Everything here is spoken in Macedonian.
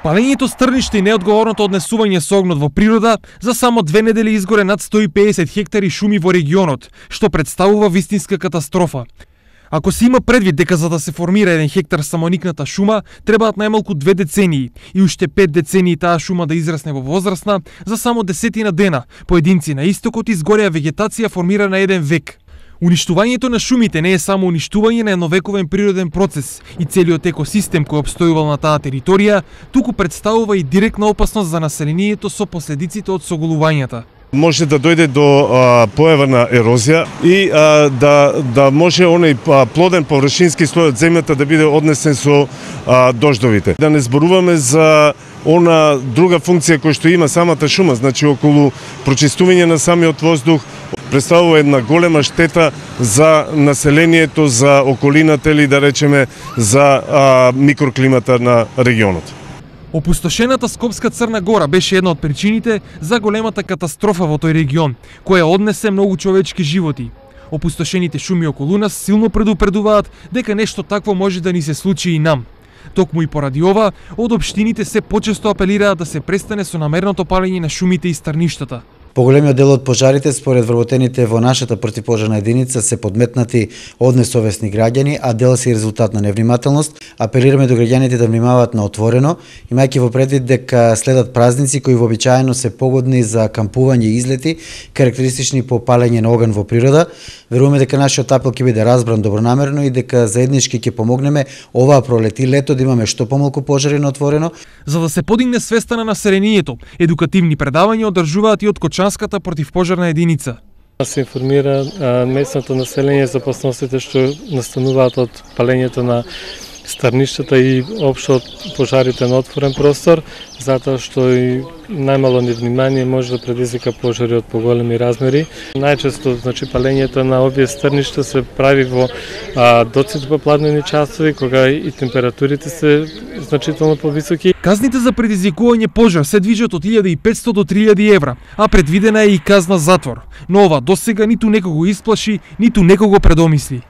Палењето стрништа и неодговорното однесување со огнот во природа за само 2 недели изгоре над 150 хектари шуми во регионот, што представува вистинска катастрофа. Ако се има предвид дека за да се формира 1 хектар самоникната шума, требаат најмалку 2 децении и уште 5 децении таа шума да израсне во возрастна, за само 10 дена, поединци на истокот изгореа вегетација формирана 1 век. Уништувањето на шумите не е само уништување на едновековен природен процес и целиот екосистем кој обстојувал на таа територија, туку представува и директна опасност за населението со последиците од соголувањата. Може да дојде до појава на ерозија и да може оној плоден површински слој од земјата да биде однесен со дождовите. Да не зборуваме за она друга функција која што има самата шума, значи околу прочистување на самиот воздух, представува една голема штета за населението, за околината или да речеме за микроклимата на регионот. Опустошената Скопска Црна Гора беше една од причините за големата катастрофа во тој регион, која однесе многу човечки животи. Опустошените шуми околу нас силно предупредуваат дека нешто такво може да ни се случи и нам. Токму и поради ова, од општините се почесто апелираат да се престане со намерното палење на шумите и стрништата. Поголемиот дел од пожарите, според вработените во нашата противпожарна единица, се подметнати од несовесни граѓани, а дел се резултат на невнимателност. Апелираме до граѓаните да внимаваат на отворено, имајќи во предвид дека следат празници кои вообичаено се погодни за кампување и излети, карактеристични по палење на оган во природа. Веруваме дека нашиот апел ќе биде разбран добронамерно и дека заеднички ќе помогнеме оваа пролет и лето да имаме што помалку пожари на отворено. За да се подигне свеста на населението, едукативни предавања одржуваат и од Кочанската противпожарна единица. Се информира местното население за опасностите што настануваат од палењето на стрништата и општо од пожарите на отворен простор, затоа што и најмало невнимание може да предизвика пожари од поголеми размери. Најчесто, значи, палењето на овие стрништа се прави во доците попладнени часови, кога и температурите се значително повисоки. Казните за предизвикување пожар се движат од 1500 до 3000 евра, а предвидена е и казна затвор. Но ова досега ниту некого исплаши, ниту некого предомисли.